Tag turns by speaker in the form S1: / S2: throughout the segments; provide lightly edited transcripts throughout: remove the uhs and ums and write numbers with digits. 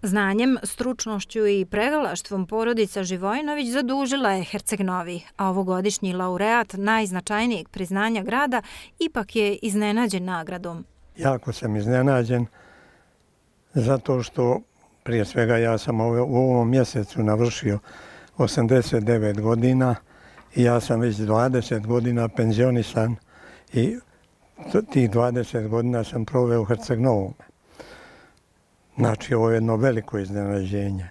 S1: Znanjem, stručnošću i pregalaštvom porodica Živojinović zadužila je Herceg Novi, a ovogodišnji laureat najznačajnijeg priznanja grada ipak je iznenađen nagradom.
S2: Jako sam iznenađen zato što prije svega ja sam u ovom mjesecu navršio 89 godina i ja sam već 20 godina penzionisan i tih 20 godina sam proveo u Herceg Novome. Znači, ovo je jedno veliko iznenađenje.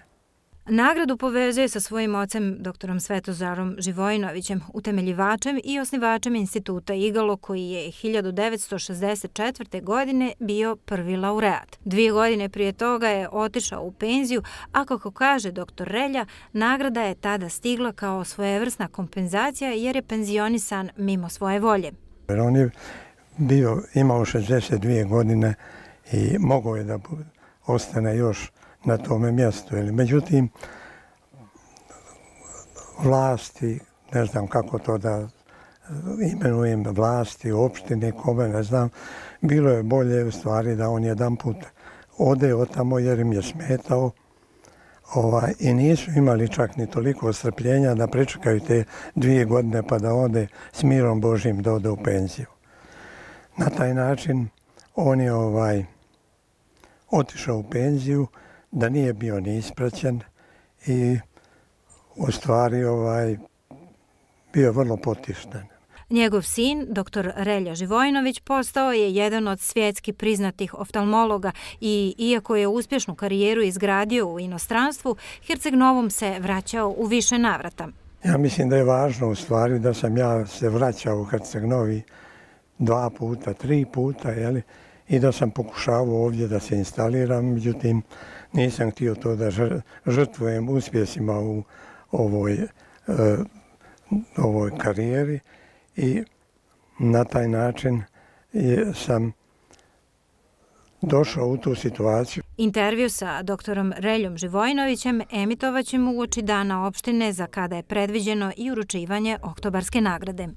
S1: Nagradu povezuje sa svojim ocem, doktorom Svetozarom Živojinovićem, utemeljivačem i osnivačem instituta Igalo, koji je 1964. godine bio prvi laureat. 2 godine prije toga je otišao u penziju, a kako kaže doktor Relja, nagrada je tada stigla kao svojevrsna kompenzacija jer je penzionisan mimo svoje volje.
S2: On je imao 62 godine i mogao je da ostane još na tome mjestu. Međutim, vlasti, ne znam kako to da imenujem, vlasti, opštine, kome, ne znam, bilo je bolje u stvari da on jedan put ode od tamo jer im je smetao i nisu imali čak ni toliko strpljenja da pričekaju te 2 godine pa da ode s mirom Božjim da ode u penziju. Na taj način on je otišao u penziju, da nije bio ni ispraćen i u stvari bio vrlo potišten.
S1: Njegov sin, dr. Relja Živojinović, postao je jedan od svjetski priznatih oftalmologa i iako je uspješnu karijeru izgradio u inostranstvu, Herceg Novom se vraćao u više navrata.
S2: Ja mislim da je važno u stvari da sam ja se vraćao u Herceg Novi 2 puta, 3 puta, i da sam pokušavao ovdje da se instaliram, međutim nisam htio to da žrtvujem uspjesima u ovoj karijeri i na taj način sam došao u tu situaciju.
S1: Intervju sa doktorom Reljom Živojinovićem emitovaćemo uoči Dana opštine za kada je predviđeno i uručivanje oktobarske nagrade.